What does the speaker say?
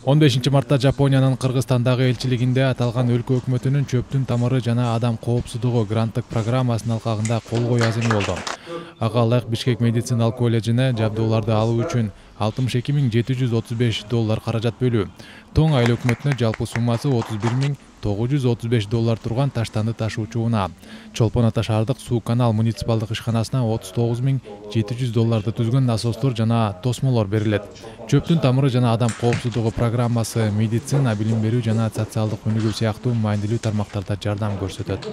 15 мартта Жапониянын Кыргызстандагы элчилигинде аталган өлкө өкмөтүнүн чөптүн тамыры жана адам коопсуздугу гранттык программасынын алкагында кол коюу аземи болду. Ага ылайык Бишкек медициналык колледжине жабдууларды алуу үчүн $62.735 каражат бөлүү. Тоң айыл өкмөтүнө жалпы суммасы $30.935 турган таштанды ташуучу унаа. Чолпон Ата шаардык суу канал муниципалдык ишканасына $39.700 түзгөн насостор жана тосмолор берилет. Чөптүн тамыры жана адам коопсуздугу программасы медицина, билим берүү жана социалдык өнүгүү сыяктуу маанилүү тармактарда жардам көрсөтөт.